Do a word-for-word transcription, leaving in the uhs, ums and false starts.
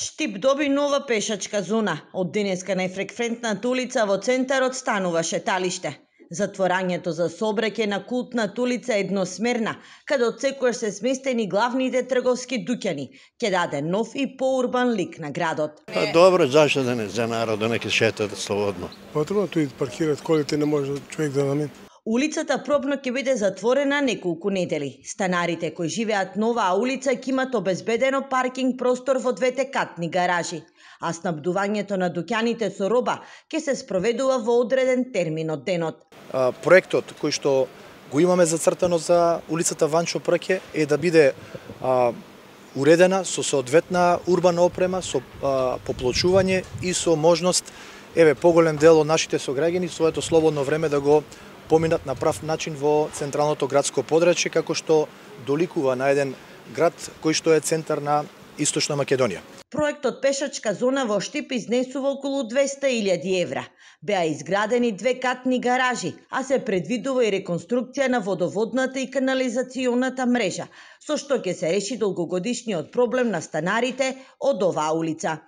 Штип доби нова пешачка зона. Од денеска најфреквентната улица во центарот станува шеталиште. Затворањето за сообраќај на Култната улица е едносмерна, каде од секојаш се сместени главните трговски дуќани, ќе даде нов и поурбан лик на градот. Па добро, зашто да не за народот нека шетат слободно. Потребно тој паркираат колите, не може човек да намени. Улицата пробно ќе биде затворена неколку недели. Станарите кои живеат на оваа улица ќе имат обезбедено паркинг простор во двете катни гаражи, а снабдувањето на дуќаните со роба ќе се спроведува во одреден термин од денот. А, проектот кој што го имаме зацртано за улицата Ванчо Прке е да биде а, уредена со соодветна урбана опрема, со а, поплочување и со можност еве поголем дел од нашите сограѓани своето слободно време да го поминат на прав начин во централното градско подрачје, како што доликува на еден град кој што е центар на Источна Македонија. Проектот пешачка зона во Штип изнесува околу двесте илјади евра. Беа изградени две катни гаражи, а се предвидува и реконструкција на водоводната и канализационата мрежа, со што ќе се реши долгогодишниот проблем на станарите од оваа улица.